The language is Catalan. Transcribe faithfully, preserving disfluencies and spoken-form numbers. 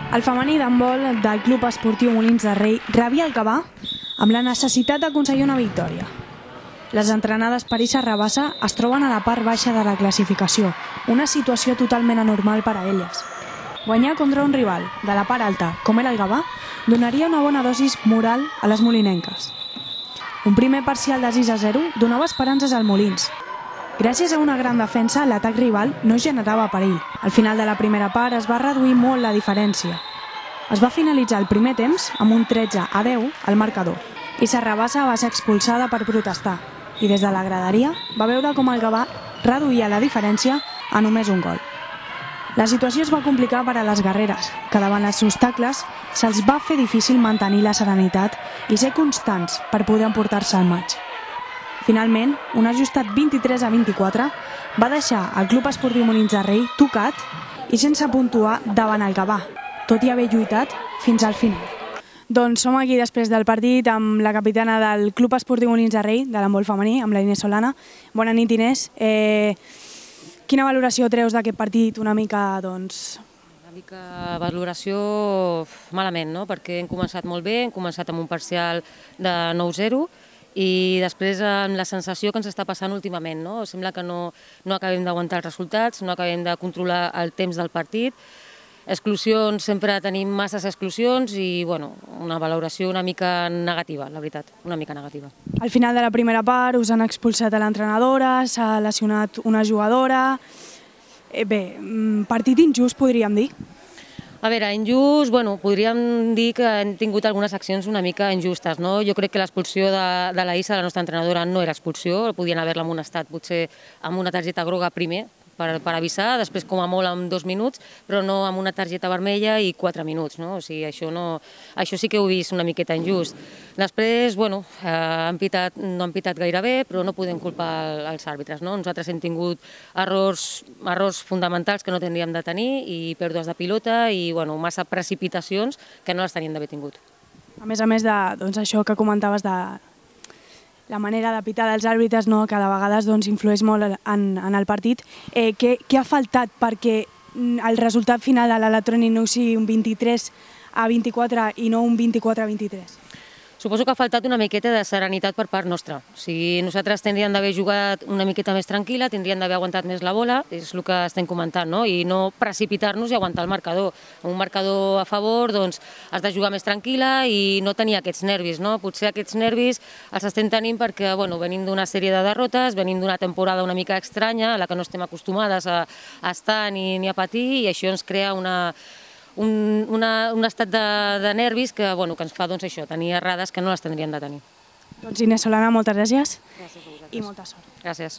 El femení d'handbol del Club Esportiu Molins de Rei rebia el Gavà amb la necessitat d'aconseguir una victòria. Les entrenades per Issa Rabassa es troben a la part baixa de la classificació, una situació totalment anormal per a elles. Guanyar contra un rival de la part alta, com era el Gavà, donaria una bona dosis moral a les molinenques. Un primer parcial de sis a zero donava esperances al Molins. Gràcies a una gran defensa, l'atac rival no generava perill. Al final de la primera part es va reduir molt la diferència. Es va finalitzar el primer temps amb un tretze a deu al marcador. Issa Rabassa va ser expulsada per protestar i des de la graderia va veure com el Gavà reduïa la diferència a només un gol. La situació es va complicar per a les guerreres, que davant els obstacles se'ls va fer difícil mantenir la serenitat i ser constants per poder emportar-se al maig. Finalment, un ajustat vint-i-tres a vint-i-quatre va deixar el Club Esportiu Molins de Rei tocat i sense puntuar davant el Gavà, tot i haver lluitat fins al final. Doncs som aquí després del partit amb la capitana del Club Esportiu Molins de Rei, de l'handbol femení, amb la Inés Solana. Bona nit, Inés. Eh, quina valoració treus d'aquest partit? Una mica, doncs... Una mica valoració malament, no? Perquè hem començat molt bé, hem començat amb un parcial de nou zero, i després amb la sensació que ens està passant últimament, no? Sembla que no, no acabem d'aguantar els resultats, no acabem de controlar el temps del partit. Exclusions, sempre tenim masses exclusions i bueno, una valoració una mica negativa, la veritat, una mica negativa. Al final de la primera part us han expulsat a l'entrenadora, s'ha lesionat una jugadora... Eh, bé, partit injust podríem dir? A veure, injust, bueno, podríem dir que hem tingut algunes accions una mica injustes, no? Jo crec que l'expulsió de, de la Issa, la nostra entrenadora, no era expulsió, podien haver-la amonestat potser amb una targeta groga primer, per, per avisar, després com a molt en dos minuts, però no amb una targeta vermella i quatre minuts, no? O sigui, això, no, això sí que ho he vist una miqueta injust. Després, bueno, eh, han pitat, no han pitat gaire bé, però no podem culpar els àrbitres, no? Nosaltres hem tingut errors, errors fonamentals que no tindríem de tenir i pèrdues de pilota i, bueno, massa precipitacions que no les teníem d'haver tingut. A més a més de doncs, això que comentaves de la manera de pitar dels àrbitres, no, que de vegades doncs, influeix molt en, en el partit. Eh, què, què ha faltat perquè el resultat final de l'electrònic no sigui un vint-i-tres a vint-i-quatre i no un vint-i-quatre a vint-i-tres? Suposo que ha faltat una miqueta de serenitat per part nostra. O sigui, nosaltres tindríem d'haver jugat una miqueta més tranquil·la, tindríem d'haver aguantat més la bola, és el que estem comentant, no? I no precipitar-nos i aguantar el marcador. Amb un marcador a favor, doncs, has de jugar més tranquil·la i no tenir aquests nervis, no? Potser aquests nervis els estem tenint perquè, bueno, venim d'una sèrie de derrotes, venim d'una temporada una mica estranya, a la que no estem acostumades a, a estar ni, ni a patir, i això ens crea una... Un, una, un estat de, de nervis que, bueno, que ens fa doncs, això, tenir errades que no les tindríem de tenir. Doncs Inés Solana, moltes gràcies, Gràcies a vosaltres. I molta sort. Gràcies.